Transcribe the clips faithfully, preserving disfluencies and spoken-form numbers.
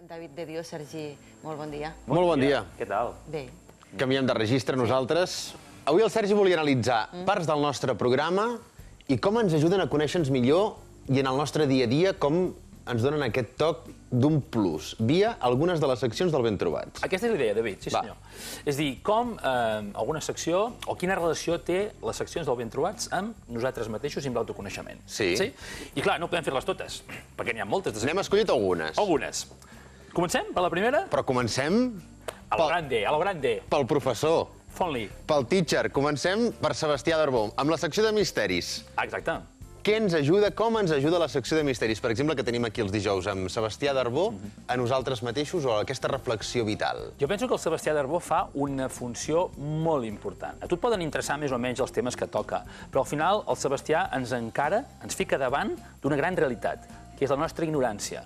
David de Dios, Sergi, molt bon dia. Molt bon dia. Què tal? Bé. Canviem de registre nosaltres. Avui el Sergi volia analitzar parts del nostre programa i com ens ajuden a conèixer-nos millor i en el nostre dia a dia com ens donen aquest toc d'un plus, via algunes de les seccions del Ben Trobats. Aquesta és la idea, David, sí senyor. És a dir, com eh, alguna secció, o quina relació té les seccions del Ben Trobats amb nosaltres mateixos i amb l'autoconeixement. Sí. sí. I clar, no podem fer-les totes, perquè n'hi ha moltes. De... N'hem escollit algunes. Algunes. Comencem per la primera? Però comencem... A lo grande, a lo grande. Pel professor. Fon-li. Pel teacher. Comencem per Sebastià Darbó, amb la secció de misteris. Exacte. Què ens ajuda, com ens ajuda la secció de misteris? Per exemple, que tenim aquí els dijous amb Sebastià Darbó, a nosaltres mateixos o a aquesta reflexió vital. Jo penso que el Sebastià Darbó fa una funció molt important. A tu et poden interessar més o menys els temes que toca, però al final el Sebastià ens encara, ens fica davant d'una gran realitat, que és la nostra ignorància.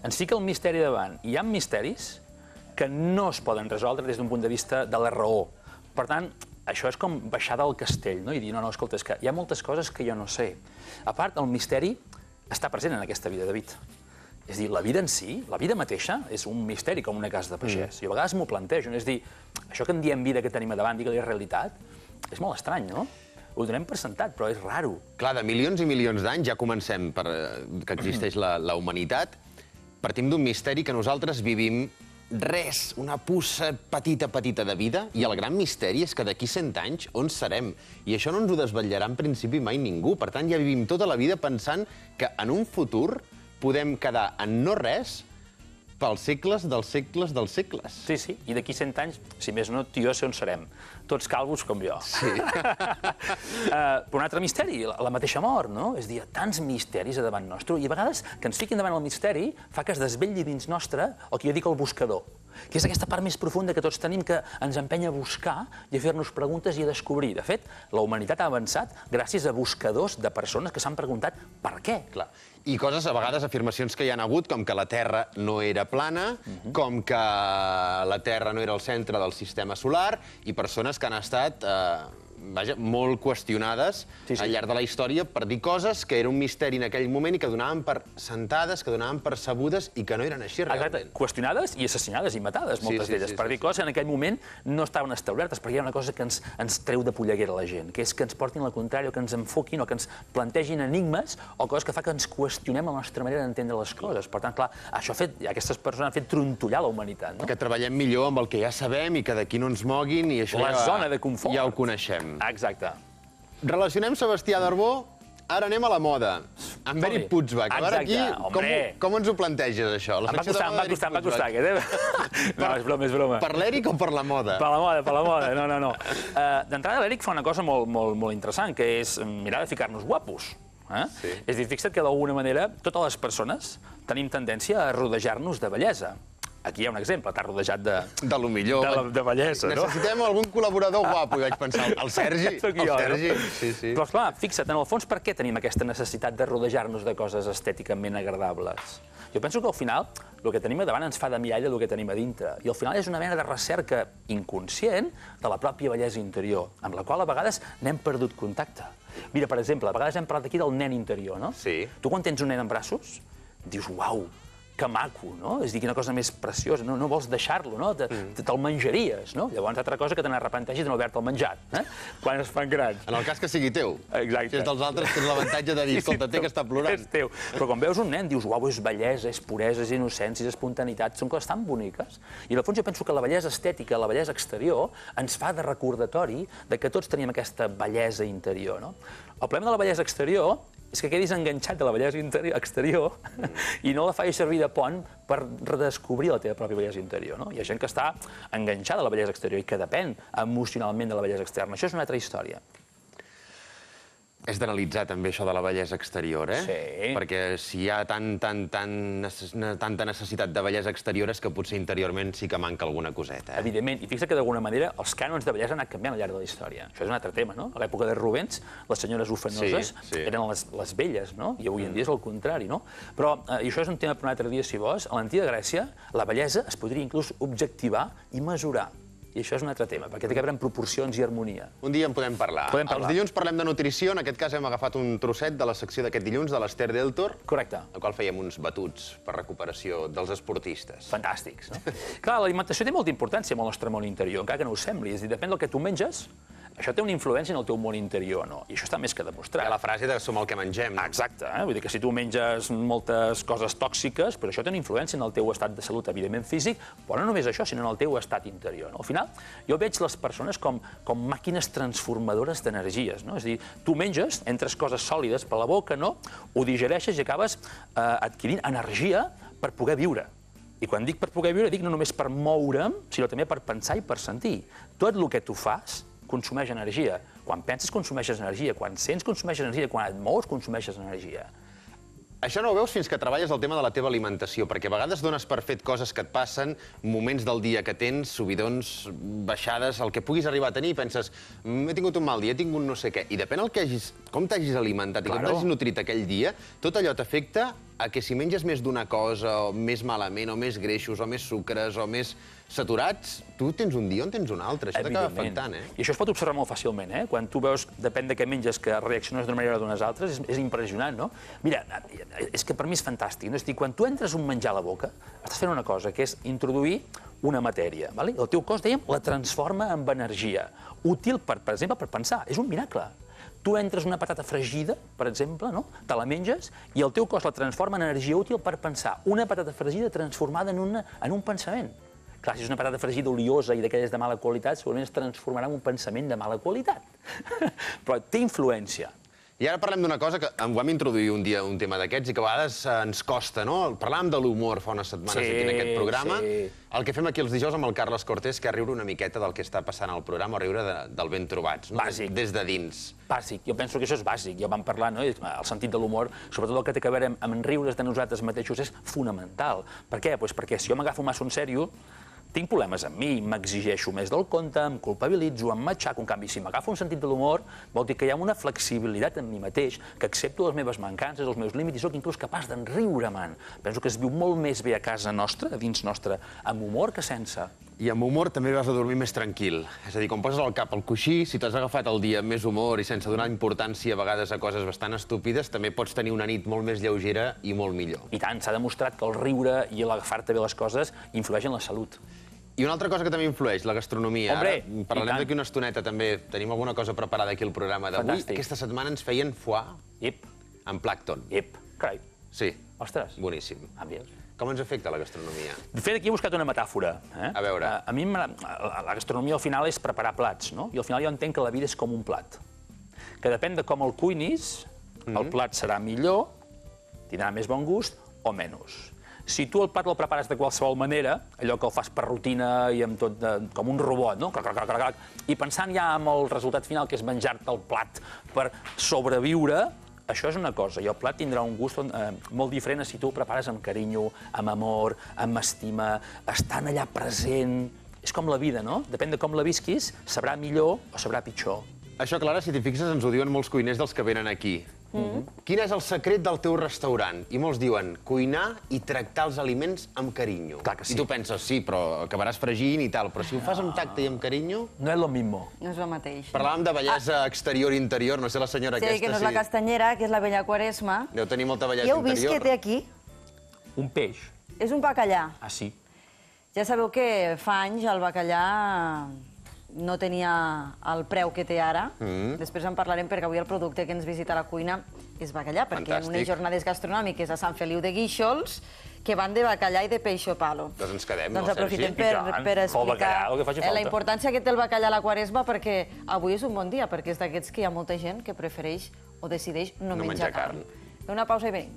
Ens fica el misteri davant. I hi ha misteris que no es poden resoldre des d'un punt de vista de la raó. Per tant, això és com baixar del castell, no? I dir, no, no, escolta, és que hi ha moltes coses que jo no sé. A part, el misteri està present en aquesta vida, David. És a dir, la vida en si, la vida mateixa, és un misteri com una casa de pagès. Mm. I a vegades m'ho plantejo, és a dir, això que en diem vida que tenim a davant, digue-li realitat, és molt estrany, no? Ho donem per sentat, però és raro. Clar, de milions i milions d'anys ja comencem per, que existeix la, la humanitat. Partim d'un misteri que nosaltres vivim res, una puça petita, petita de vida, i el gran misteri és que d'aquí cent anys on serem? I això no ens ho desvetllarà en principi mai ningú. Per tant, ja vivim tota la vida pensant que en un futur podem quedar en no res pels segles dels segles dels segles. Sí, sí, i d'aquí cent anys, si més no, tu i jo sé on serem. Tots calvos com jo. Sí. uh, però un altre misteri, la, la mateixa mort, no? És a dir, hi ha tants misteris a davant nostre, i a vegades que ens fiquin davant el misteri fa que es desvetlli dins nostre el que jo dic el buscador, que és aquesta part més profunda que tots tenim que ens empenya a buscar i a fer-nos preguntes i a descobrir. De fet, la humanitat ha avançat gràcies a buscadors de persones que s'han preguntat per què. Clar. I coses, a vegades, afirmacions que hi han hagut, com que la Terra no era plana, uh-huh. com que la Terra no era el centre del sistema solar, i persones que han estat eh, vaja, molt qüestionades sí, sí. al llarg de la història per dir coses que era un misteri en aquell moment i que donaven per sentades, que donaven per sabudes i que no eren així realment. Exacte. Qüestionades i assassinades i matades, moltes sí, sí, d'elles, sí, per sí, dir coses que en aquell moment no estaven establertes, perquè hi ha una cosa que ens, ens treu de polleguera la gent, que és que ens portin la contrària, o que ens enfoquin, o que ens plantegin enigmes, o coses que fa que ens qüestionem la nostra manera d'entendre les coses. Per tant, clar, això ha fet, aquestes persones han fet trontollar la humanitat. No? Que treballem millor amb el que ja sabem i que d'aquí no ens moguin i això la ja, zona de confort. Ja ho coneixem. Exacte. Relacionem Sebastià Darbó, ara anem a la moda. En Beri Putzbach. A veure aquí, com, com ens ho planteges, això? Em va costar, em va costar, em va costar, aquest, eh? No, és broma, és broma. Per l'Eric o per la moda? Per la moda, per la moda, no, no, no. Uh, D'entrada, l'Eric fa una cosa molt, molt, molt interessant, que és mirar de ficar-nos guapos. Eh? Sí. És a dir, fixa't que d'alguna manera totes les persones tenim tendència a rodejar-nos de bellesa. Aquí hi ha un exemple, t'has rodejat de... De lo millor. De, la, de bellesa, no? Necessitem algun col·laborador guapo, i vaig pensar, el Sergi, el jo, Sergi. No? Sí, sí. Però, esclar, fixa't, en el fons, per què tenim aquesta necessitat de rodejar-nos de coses estèticament agradables? Jo penso que al final el que tenim a davant ens fa de mirall del que tenim a dintre. I al final és una mena de recerca inconscient de la pròpia bellesa interior, amb la qual a vegades n'hem perdut contacte. Mira, per exemple, a vegades hem parlat aquí del nen interior, no? Sí. Tu quan tens un nen en braços, dius, uau, que maco, no? És a dir, quina cosa més preciosa, no, no vols deixar-lo, no? Te, mm. Te'l menjaries, no? Llavors, altra cosa que te n'arrepenteixis de no haver-te'l menjat, eh? Quan es fan grans. En el cas que sigui teu. Exacte. Si és dels altres, tens l'avantatge de dir, escolta, té que estar plorant. És teu. Però quan veus un nen, dius, uau, és bellesa, és puresa, és innocència, és espontaneïtat, són coses tan boniques. I, al fons, jo penso que la bellesa estètica, la bellesa exterior, ens fa de recordatori de que tots teníem aquesta bellesa interior, no? El problema de la bellesa exterior és que quedis enganxat de la bellesa exterior i no la facis servir de pont per redescobrir la teva pròpia bellesa interior. No? Hi ha gent que està enganxada a la bellesa exterior i que depèn emocionalment de la bellesa externa. Això és una altra història. És d'analitzar també això de la bellesa exterior, eh? Sí. Perquè si hi ha tan, tan, tan, necess... tanta necessitat de bellesa exterior és que potser interiorment sí que manca alguna coseta. Eh? Evidentment, i fixa't que d'alguna manera els cànons de bellesa han anat canviant al llarg de la història. Això és un altre tema, no? A l'època de Rubens, les senyores ufanoses sí, sí. eren les, les belles, no? I avui en dia és el contrari, no? Però, eh, i això és un tema per un altre dia, si vols, a l'antiga Grècia la bellesa es podria inclús objectivar i mesurar. I això és un altre tema, perquè té que veure amb proporcions i harmonia. Un dia en podem parlar. Podem parlar. Els dilluns parlem de nutrició, en aquest cas hem agafat un trosset de la secció d'aquest dilluns de l'Ester Deltor, Correcte. al qual fèiem uns batuts per recuperació dels esportistes. Fantàstics, no? Clar, l'alimentació té molta importància en el nostre món interior, encara que no ho sembli. És a dir, depèn del que tu menges, això té una influència en el teu món interior o no. I això està més que demostrat. Hi ha la frase de som el que mengem. No? Exacte, eh? Vull dir que si tu menges moltes coses tòxiques, però això té una influència en el teu estat de salut, evidentment físic, però no només això, sinó en el teu estat interior. No? Al final, jo veig les persones com, com màquines transformadores d'energies. No? És a dir, tu menges, entres coses sòlides per la boca, no? Ho digereixes i acabes eh, adquirint energia per poder viure. I quan dic per poder viure, dic no només per moure'm, sinó també per pensar i per sentir. Tot el que tu fas consumeix energia. Quan penses, consumeixes energia. Quan sents, consumeixes energia. Quan et mous, consumeixes energia. Això no ho veus fins que treballes el tema de la teva alimentació, perquè a vegades dones per fet coses que et passen, moments del dia que tens, subidons, baixades, el que puguis arribar a tenir, i penses, he tingut un mal dia, he tingut no sé què, i depèn el que hagis, com t'hagis alimentat i com t'hagis nutrit aquell dia, tot allò t'afecta a que si menges més d'una cosa, o més malament, o més greixos, o més sucres, o més saturats, tu tens un dia on tens un altre. Això t'acaba afectant, eh? I això es pot observar molt fàcilment, eh? Quan tu veus, depèn de què menges, que reacciones d'una manera o d'unes altres, és, és impressionant, no? Mira, és que per mi és fantàstic, no? És a dir, quan tu entres un menjar a la boca, estàs fent una cosa, que és introduir una matèria, ¿vale? El teu cos, dèiem, la transforma en energia, útil, per, per exemple, per pensar. És un miracle. Tu entres una patata fregida, per exemple, no? Te la menges i el teu cos la transforma en energia útil per pensar. Una patata fregida transformada en, una, en un pensament. Clar, si és una patata fregida oliosa i d'aquelles de mala qualitat, segurament es transformarà en un pensament de mala qualitat. Però té influència. I ara parlem d'una cosa que em vam introduir un dia un tema d'aquests i que a vegades ens costa, no? Parlàvem de l'humor fa unes setmanes Sí, aquí en aquest programa. sí. El que fem aquí els dijous amb el Carles Cortés, que és riure una miqueta del que està passant al programa, o riure de, del ben trobats, no? Bàsic. Des de dins. Bàsic, jo penso que això és bàsic, ja vam parlar, no? El sentit de l'humor, sobretot el que té a veure amb, amb riure's de nosaltres mateixos, és fonamental. Per què? Pues perquè si jo m'agafo massa en sèrio, tinc problemes amb mi, m'exigeixo més del compte, em culpabilitzo, em matxaco. En canvi, si m'agafo un sentit de l'humor, vol dir que hi ha una flexibilitat en mi mateix, que accepto les meves mancances, els meus límits, i sóc inclús capaç d'enriure-me'n. Penso que es viu molt més bé a casa nostra, a dins nostra, amb humor que sense. I amb humor també vas a dormir més tranquil. És a dir, quan poses el cap al coixí, si t'has agafat el dia amb més humor i sense donar importància a vegades a coses bastant estúpides, també pots tenir una nit molt més lleugera i molt millor. I tant, s'ha demostrat que el riure i l'agafar-te bé les coses influeix en la salut. I una altra cosa que també influeix, la gastronomia. Hombre, Ara parlarem d'aquí una estoneta també. Tenim alguna cosa preparada aquí al programa d'avui. Fantàstic. Aquesta setmana ens feien foie Ip, amb plàncton. ip, carai. Sí, Ostres. boníssim. Ah, veus? Com ens afecta la gastronomia? De fet, aquí he buscat una metàfora. Eh? A veure. A, a mi m'agrada- la gastronomia al final és preparar plats, no? I al final jo entenc que la vida és com un plat. Que depèn de com el cuinis, el plat serà millor, tindrà més bon gust o menys. Si tu el plat el prepares de qualsevol manera, allò que el fas per rutina i amb tot de, com un robot, no? Clac, clac, clac, clac, i pensant ja en el resultat final, que és menjar-te el plat per sobreviure, això és una cosa, i el plat tindrà un gust eh, molt diferent si tu el prepares amb carinyo, amb amor, amb estima, estant allà present. És com la vida, no? Depèn de com la visquis, sabrà millor o sabrà pitjor. Això, Clara, si t'hi fixes, ens ho diuen molts cuiners dels que venen aquí. Quin és el secret del teu restaurant? I molts diuen cuinar i tractar els aliments amb carinyo. Clar que sí. I tu penses, sí, però acabaràs fregint i tal, però si ho fas amb tacte i amb carinyo... No és lo mismo. No és el mateix. Parlàvem de bellesa exterior i interior, no sé la senyora Sí, aquesta... que no és la castanyera, que és la vella Quaresma. Deu tenir molta bellesa I heu vist interior. què té aquí? Un peix. És un bacallà. Ah, sí. Ja sabeu que fa anys el bacallà no tenia el preu que té ara. Mm. Després en parlarem perquè avui el producte que ens visita a la cuina és bacallà, perquè en unes Fantàstic. jornades gastronòmiques a Sant Feliu de Guíxols que van de bacallà i de peixo palo. Doncs ens quedem, Doncs no, aprofitem Sergi? per, I tant, per pel explicar bacallà, el que faci eh, la falta. importància que té el bacallà a la Quaresma, perquè avui és un bon dia, perquè és d'aquests que hi ha molta gent que prefereix o decideix no, No menjar menjar carn. carn. Fem una pausa i venim.